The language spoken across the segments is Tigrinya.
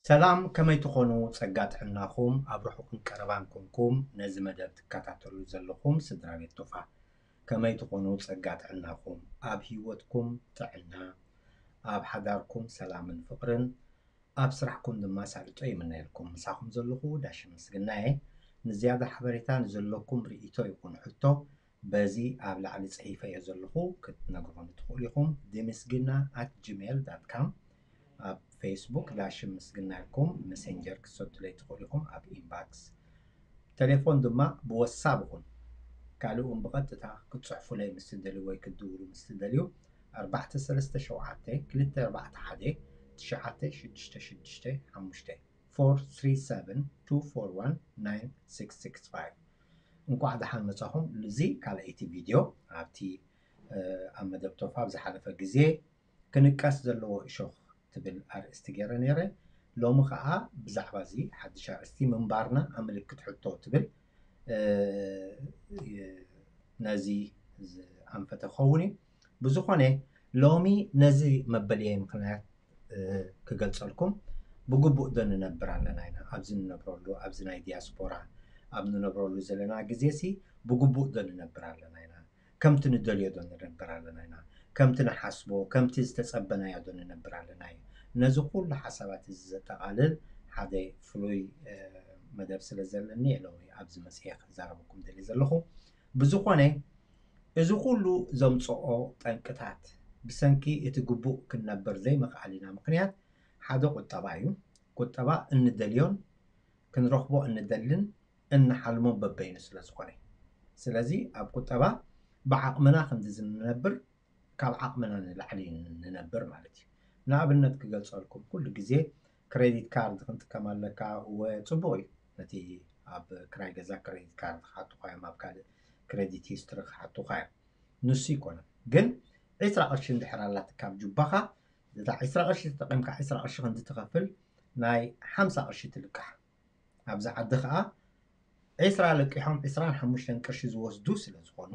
ሰላም፣ ከመይ ትኾኑ? ጸጋ ጥዕናኹም ኣብ ርሑቕን ቀረባን ኮንኩም ነዚ መደብ ትከታተሉ ዘለኹም ስድራ ቤት ቶፋ፣ ከመይ ትኾኑ? ጸጋ ጥዕናኹም ኣብ ህይወትኩም ጥዕና፣ ኣብ ሓዳርኩም ሰላምን ፍቕርን፣ ኣብ ስራሕኩም ድማ ሳልጦ ይምነየልኩም። ምሳኹም ዘለኹ ዳሽ ምስግናየ። ንዝያዳ ሓበሬታ ንዘለኩም ርእይቶ ይኹን ሕቶ በዚ ኣብ ላዕሊ ጽሒፈዮ ዘለኹ ክትነግሩኒ ትኽእሉ ኢኹም። ድምስግና at gmail dot com፣ ኣብ ፌስቡክ ዳሽን ምስግና ኢልኩም መሴንጀር ክትሰዱለይ ትኽእሉ ኢኹም ኣብ ኢንባክስ። ቴሌፎን ድማ ብወሳብ ይኹን ካልእ እውን ብቐጥታ ክትጽሕፉለይ ምስ ትደልዩ ወይ ክትድውሉ ምስ ትደልዩ ኣርባዕተ ሰለስተ ሸውዓተ ክልተ ኣርባዕተ ሓደ ትሽዓተ ሽዱሽተ ሽዱሽተ ሓሙሽተ፣ four three seven two four one nine six six five። እንኳዕ ደሓን መጻኹም። እዚ ካልኣይቲ ቪድዮ ኣብቲ ኣብ መደብ ቶፋ ኣብ ዝሓለፈ ግዜ ክንቀስ ዘለዎ እሾኽ ትብል ኣርእስቲ ገይረ ነይረ። ሎሚ ኸዓ ብዛዕባ እዚ ሓድሽ ኣርእስቲ ምንባርና ኣምልክት ሕቶ ትብል ነዚ ዝኣንፈተ ክኸውን እዩ። ብዝኾነ ሎሚ ነዚ መበልየ ምኽንያት ክገልጸልኩም፣ ብግቡእ ዶ ንነብር ኣለና ኢና ኣብዚ ንነብረሉ ኣብዚ ናይ ዲያስፖራ ኣብ ንነብረሉ ዘለና ግዜ ሲ ብግቡእ ዶ ንነብር ኣለና ኢና? ከምቲ ንደልዮ ዶ ንነብር ኣለና ኢና? ከምቲ ንሓስቦ ከምቲ ዝተጸበናዮ ዶ ንነብር ኣለና እዩ? ነዚ ኩሉ ሓሳባት እዚ ዘጠቓልል ሓደ ፍሉይ መደብ ስለ ዘለኒ ሎሚ ኣብዚ መጽኤ ክዛረበኩም ደልየ ዘለኹ። ብዝኾነ እዚ ኩሉ ዘምጽኦ ጠንቅታት ብሰንኪ እቲ ግቡእ ክንነብር ዘይምኽኣልና ምኽንያት ሓደ ቁጠባ እዩ። ቁጠባ እንደልዮን ክንረኽቦ እንደልን እንሓልሞን በበይኑ ስለ ዝኾነ፣ ስለዚ ኣብ ቁጠባ ብዓቕምና ክንዲ ዝንነብር ካብ ዓቕምና ንላዕሊ ንነብር ማለት እዩ። ንኣብነት ክገልጸልኩም፣ ኩሉ ግዜ ክሬዲት ካርድ ክንጥቀም ኣለካ። እወ፣ ጽቡቕ እዩ፣ ነቲ ኣብ ክራይ ገዛ ክሬዲት ካርድ ክሓቱኻ እዮም፣ ኣብ ካልእ ክሬዲት ሂስትሪ ክሓቱኻ እዮም። ንሱ ይኮነ ግን፣ ዕስራ ቅርሺ እንድሕር ኣላትካ ኣብ ጁባኻ፣ እታ ዕስራ ቅርሺ ተጠቒምካ ዕስራ ቅርሺ ክንዲ ትኸፍል፣ ናይ ሓምሳ ቅርሺ ትልቃሕ። ኣብዚ ዓዲ ኸኣ ዕስራ ለቂሖም ዕስራን ሓሙሽተን ቅርሺ ዝወስዱ ስለ ዝኾኑ፣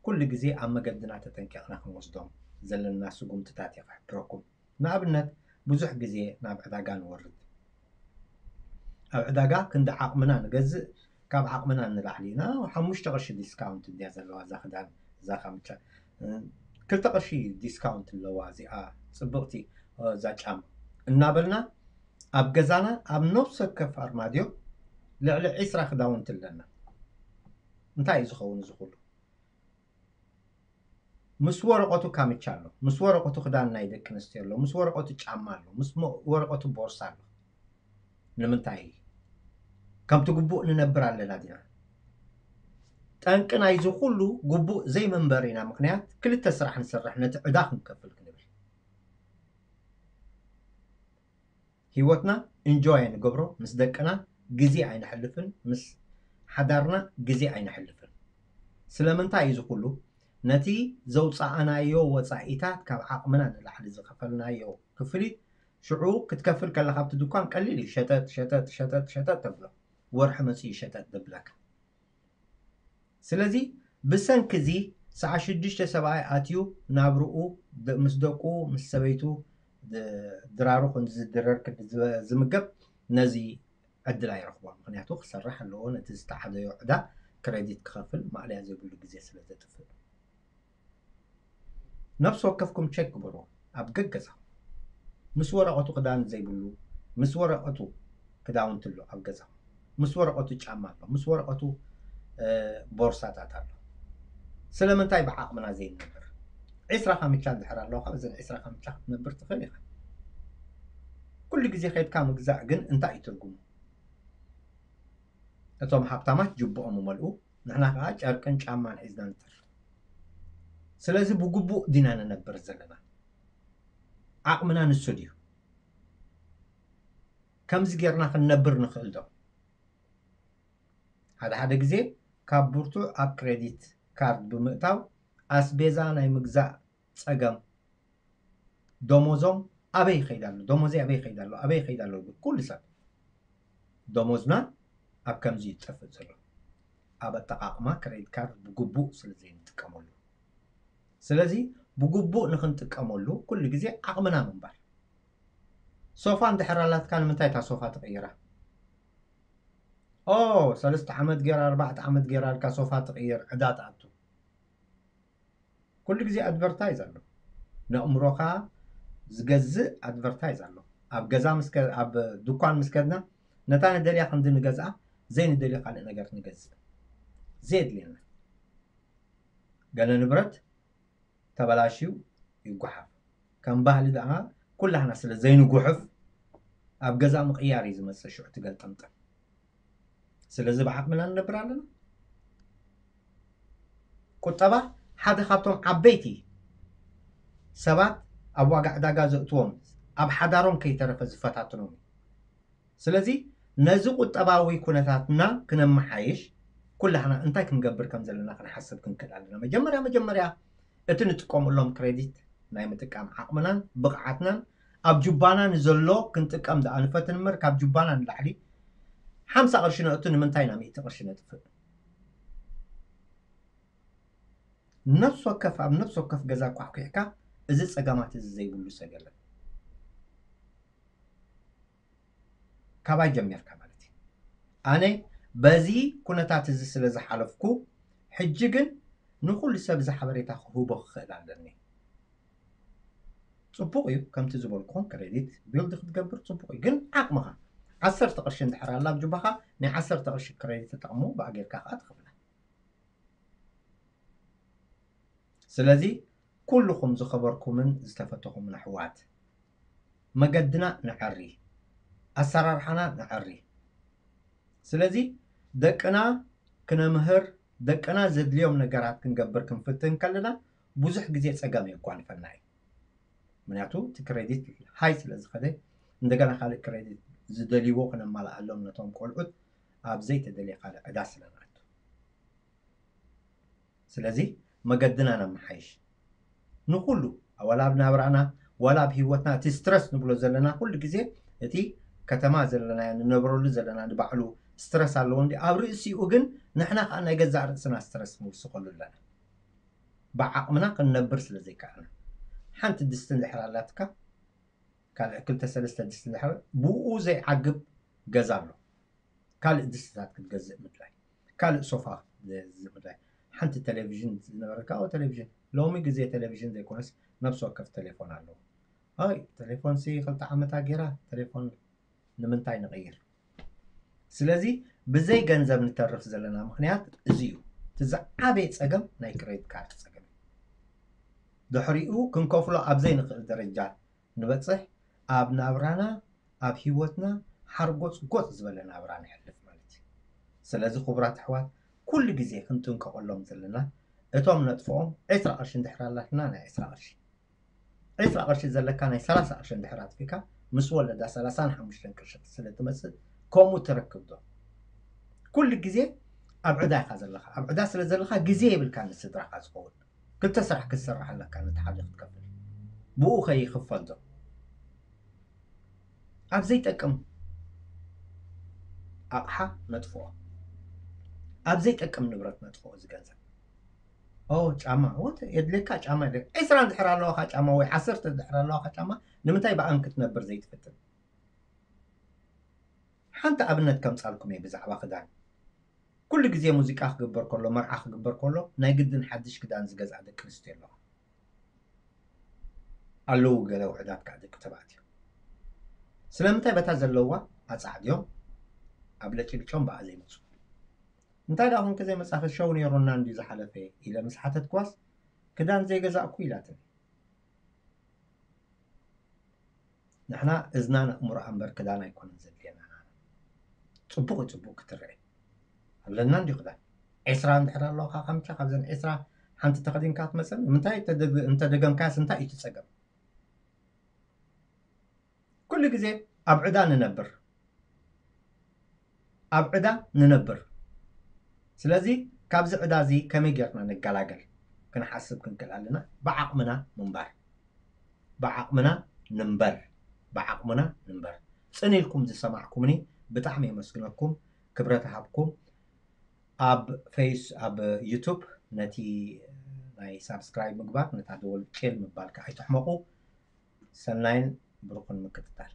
ኩሉ ግዜ ኣብ መገድና ተጠንቂቕና ክንወስዶም ዘለና ስጉምትታት እየ ክሕብረኩም። ንኣብነት፣ ብዙሕ ግዜ ናብ ዕዳጋ ንወርድ። ኣብ ዕዳጋ ክንዲ ዓቕምና ንገዝእ፣ ካብ ዓቕምና ንላዕሊ ኢና። ሓሙሽተ ቅርሺ ዲስካውንት እንድያ ዘለዋ እዛ ክዳን፣ እዛ ካምቻ። ክልተ ቅርሺ ዲስካውንት ኣለዋ እዚኣ ጽብቕቲ፣ እዛ ጫማ እናበልና ኣብ ገዛና ኣብ ነፍሲ ወከፍ ኣርማድዮ ልዕሊ ዕስራ ክዳውንቲ ኣለና። እንታይ እዩ ዝኸውን እዚ ኩሉ? ምስ ወረቐቱ ካምቻ ኣሎ፣ ምስ ወረቐቱ ክዳን ናይ ደቂ ኣንስትዮ ኣሎ፣ ምስ ወረቐቱ ጫማ ኣሎ፣ ምስ ሞ-፣ ወረቐቱ ቦርሳ ኣሎ። ንምንታይ? ከምቲ ግቡእ ንነብር ኣለና ዲና? ጠንቂ ናይዚ ኩሉ ግቡእ ዘይመንበሪና ምኽንያት ክልተ ስራሕ ንሰርሕ ነቲ ዕዳ ክንከፍል ክንብል። ህይወትና እንጆይ ኣይንገብሮ፣ ምስ ደቅና ግዜ ኣይነሕልፍን፣ ምስ ሓዳርና ግዜ ኣይነሕልፍን። ስለምንታይ እዩ እዚ ኩሉ? ነቲ ዘውፃእናዮ ወፃኢታት ካብ ዓቕምና ንላዕሊ ዝኸፈልናዮ ክፍሊት ሽዑ ክትከፍል ከለኻ ኣብቲ ድኳን ቀሊል እዩ። ሸጠጥ ሸጠጥ ሸጠጥ ሸጠጥ ተብሎ። ወርሒ መፂኡ ሸጠጥ ደብለካ። ስለዚ ብሰንኪ እዚ ሰዓ ሽዱሽተ ሰብኣይ ኣትዩ ናብርኡ ደ-፣ ምስ ደቁ ምስ ሰበይቱ ድ-፣ ድራሩ ክንዲ ዝድረር ክንዲ ዝበ-፣ ዝምገብ ነዚ ዕድል ኣይረኽቦን። ምኽንያቱ ክሰርሕ ኣለዎ፣ ነቲ ዝተዓደዮ ዕዳ ክሬዲት ክኸፍል ማእለያ ዘይብሉ ግዜ ስለ ዘጥፍእ። ነፍሲ ወከፍኩም ቸክ ግበሩ ኣብ ገገዛኹም። ምስ ወረቐቱ ክዳን ዘይብሉ፣ ምስ ወረቐቱ ክዳውንቲ ኣሎ ኣብ ገዛኹም፣ ምስ ወረቐቱ ጫማ ኣሎ፣ ምስ ወረቐቱ ቦርሳታት ኣሎ። ስለምንታይ ብዓቕምና ዘይንነብር? ዒስራ ካምቻ እንድሕር ኣለዎ ካብ እዘን ዒስራ ካምቻ ክትነብር ትኽእል ኢኻ። ኩሉ ግዜ ከይድካ ምግዛእ ግን እንታይ እዩ ትርጉሙ? እቶም ሃብታማት ጅብኦም ይመልኡ፣ ንሕና ከዓ ጨርቅን ጫማን ሒዝና ንተርፍ። ስለዚ ብግቡእ ዲና ንነብር ዘለና? ዓቕምና ንሱ ድዩ? ከምዚ ጌርና ክንነብር ንኽእል ዶ? ሓደ ሓደ ግዜ ካብ ብርቱዕ ኣብ ክሬዲት ካርድ ብምእታው ኣስቤዛ ናይ ምግዛእ ጸገም፣ ደሞዞም ኣበይ ይኸይድ ኣሎ፣ ደሞዘይ ኣበይ ይኸይድ ኣሎ፣ ኣበይ ይኸይድ ኣሎ ይብል ኩሉ ሰብ። ደሞዝና ኣብ ከምዚ እዩ ዝጠፍእ ዘሎ፣ ኣብ ኣጠቓቕማ ክሬዲት ካርድ ብግቡእ ስለ ዘይንጥቀመሉ። ስለዚ ብግቡእ ንክንጥቀመሉ ኩሉ ግዜ ዓቕምና ምንባር። ሶፋ እንድሕር ኣላትካ ንምንታይ እታ ሶፋ ትቕይራ? ኦ፣ ሰለስተ ዓመት ገይራ፣ ኣርባዕተ ዓመት ገይራ ኢልካ ሶፋ ትቕይር፣ ዕዳ ትኣቱ። ኩሉ ግዜ ኣድቨርታይዝ ኣሎ። ነእምሮኻ ዝገዝእ ኣድቨርታይዝ ኣሎ። ኣብ ገዛ ምስ ከ-፣ ኣብ ድኳን ምስ ከድና ነታ ንደልያ ክንዲ ንገዝኣ፣ ዘይንደልዮ ካልእ ነገር ንገዝእ። ዘየድልየና። ገለ ንብረት ተበላሽዩ ይጓሓፍ። ከም ባህሊ ደኣ ኩላህና ስለ ዘይንጉሕፍ ኣብ ገዛ ምቕያር እዩ ዝመጽእ ሽዑ ትገልጠምጠም። ስለዚ ብዓቕምና ንነብር ኣለና። ቁጠባ ሓደ ካብቶም ዓበይቲ ሰባት ኣብ ዋጋ ዕዳጋ ዘእትዎም ኣብ ሓዳሮም ከይተረፈ ዝፈታትኖም እዩ። ስለዚ ነዚ ቁጠባዊ ኩነታትና ክነመሓይሽ ኩላህና እንታይ ክንገብር ከም ዘለና ክንሓስብ ክንክእል ኣለና። መጀመርያ መጀመርያ እቲ ንጥቀመሎም ክሬዲት ናይ ምጥቃም ዓቕምናን ብቕዓትናን ኣብ ጁባና ንዘሎ ክንጥቀም ደኣ ንፈትን እምበር ካብ ጁባና ንላዕሊ ሓምሳ ቅርሺ ነእቱ ንምንታይ ኢና ሚእቲ ቅርሺ ነጥፍእ? ነፍሲ ወከፍ ኣብ ነፍሲ ወከፍ ገዛ ኳሕኩሕካ እዚ ጸገማት እዚ ዘይብሉ ሰብ የለን። ካባይ ጀሚርካ ማለት እዩ። ኣነ በዚ ኩነታት እዚ ስለ ዝሓለፍኩ ሕጂ ግን ንኹሉ ሰብ እዚ ሓበሬታ ክህቦ ክኽእል ኣለኒ። ጽቡቕ እዩ፣ ከምቲ ዝበልኩኹም ክሬዲት ቢልድ ክትገብር ጽቡቕ እዩ፣ ግን ዓቕምኻ ዓሰርተ ቅርሺ እንድሕር ኣላ ኣብ ጁባኻ ናይ ዓሰርተ ቅርሺ ክሬዲት ተጠቕሞ ብኣ ጌርካ ከኣ ትኸፍላ። ስለዚ ኩልኹም ዝኸበርኩምን ዝተፈተኹምን ኣሕዋት መገድና ነዐሪ፣ ኣሰራርሓና ነዐሪ። ስለዚ ደቅና ክነምህር ደቅና ዘድልዮም ነገራት ክንገብር ክንፍትን ከለና ብዙሕ ግዜ ጸገም የጓንፈና እዩ። ምክንያቱ እቲ ክሬዲት ሃይ ስለ ዝኸደ እንደገና ካልእ ክሬዲት ዝደልይዎ ክነማልኣሎም ነቶም ቆልዑት ኣብ ዘይተደልየ ካልእ ዕዳ ስለ ንኣቱ። ስለዚ መገድና ነመሓይሽ ንኩሉ ዋላ ኣብ ናብራና ዋላ ኣብ ህይወትና እቲ ስትረስ ንብሎ ዘለና ኩሉ ግዜ እቲ ከተማ ዘለና ንነብረሉ ዘለና ንባዕሉ ስትረስ ኣለዎ እንዲ ኣብ ርእሲኡ ግን ንሕና ከዓ ናይ ገዛእ ርእስና ስትረስ ንውስኸሉ ኣለና። ብዓቕምና ክንነብር ስለ ዘይከኣልና ሓንቲ ድስቲ እንድሕር ኣላትካ ካልእ ክልተ ሰለስተ ድስቲ እንድሕር ብኡ ዘይዓግብ ገዛ ኣሎ። ካልእ ድስትታት ክትገዝእ ምድላይ፣ ካልእ ሶፋ ክትገዝእ ምድላይ። ሓንቲ ቴሌቪዥን ዝነበረካ ኦ ቴሌቪዥን ሎሚ ግዜ ቴሌቪዥን ዘይኮነስ ነብሲ ወከፍ ቴሌፎን ኣለዎ። ኣይ ቴሌፎን ሲ ክልተ ዓመታ ገይራ ቴሌፎን ንምንታይ ንቕይር? ስለዚ ብዘይ ገንዘብ ንተርፍ ዘለና ምኽንያት እዚ እዩ። እቲ ዝዓበየ ጸገም ናይ ክሬዲት ካርድ ጸገም እዩ። ድሕሪኡ ክንከፍሎ ኣብ ዘይንኽእል ደረጃ ንበጽሕ ኣብ ናብራና ኣብ ህይወትና ሓርጎጽ ጎጽ ዝበለ ናብራ ንሕልፍ ማለት እዩ። ስለዚ ክቡራት ኣሕዋት ኩሉ ግዜ ክንጥንቀቐሎም ዘለና እቶም ነጥፍኦም ዕስራ ቅርሺ እንድሕር ኣላትና ናይ ዕስራ ቅርሺ ዕስራ ቅርሺ ዘለካ ናይ ሰላሳ ቅርሺ እንድሕር ኣጥፊካ ምስ ወለዳ ሰላሳን ሓሙሽተን ቅርሺ ስለ ትመጽእ ከምኡ ትረክብ ዶ? ኩሉ ግዜ ኣብ ዕዳ ኢኻ ዘለኻ። ኣብ ዕዳ ስለ ዘለኻ ግዜ የብልካ ንስድራኻ ዝኸውን ክልተ ስራሕ ክትሰርሕ ኣለካ ነቲ ሓደ ክትከፍል ብኡ ከይኽፈል ዶ ኣብ ዘይጠቅም ኣቕሓ ነጥፍኦ ኣብ ዘይጠቅም ንብረት ነጥፍኦ እዚ ገንዘብ ኦ ጫማ ወት የድልየካ ጫማ የድልየካ ዕስራ እንድሕር ኣለዋካ ጫማ ወይ ዓሰርተ እንድሕር ኣለዋካ ጫማ ንምንታይ ብኣን ክትነብር ዘይትፍትን ሓንቲ ኣብነት ከምጻልኩም እየ ብዛዕባ ክዳን ኩሉ ግዜ ሙዚቃ ክግበር ከሎ መርዓ ክግበር ከሎ ናይ ግድን ሓድሽ ክዳን ዝገዝኣ ደቂ ኣንስትዮ ኣለዋ ኣለዉ ገለ ውሕዳት ከዓ ደቂ ተባዕትዮ ስለምንታይ በታ ዘለዋ ኣፃዕድዮም ኣብ ለጭልጮም ብኣ ዘይመፁ እንታይ ደኣ ኮንከ ዘይመፃኺ ሸው ነይሩና እንድዩ ዝሓለፈ ኢለ ምስ ሓተትክዋስ ክዳን ዘይገዛእኩ ኢላትኒ ንሕና እዝናን ኣእምሮኣ እምበር ክዳን ኣይኮነን ዘድልየና ናና። ጽቡቕ እዩ ጽቡቕ ክትርአ ኣለና እንዲ ክዳን። ዕስራ እንድሕር ኣለኻ ከምቻ ካብዘን ዕስራ ሓንቲ ተኸዲንካ ክትመጸኒ ምንታይ እንተደገምካያስ እንታይ እዩ እቲ ጸገም? ኩሉ ግዜ ኣብ ዕዳ ንነብር። ኣብ ዕዳ ንነብር። ስለዚ ካብዚ ዕዳ እዚ ከመይ ጌርና ንገላገል ክንሓስብ ክንክእል ኣለና። ብዓቕምና ምንባር። ብዓቕምና ንንበር። ብዓቕምና ንንበር። ጽን ኢልኩም ዝሰማዕኩምኒ ብጣዕሚ የመስግነኩም። ክብረት ሃብኩም። ኣብ ፌስ ኣብ ዩቱብ ነቲ ናይ ሳብስክራይብ ምግባር፣ ነታ ደወል ጭል ምባል ከዓ ኣይትሕመቑ። ሰናይን ብሩኽን ምክትታል።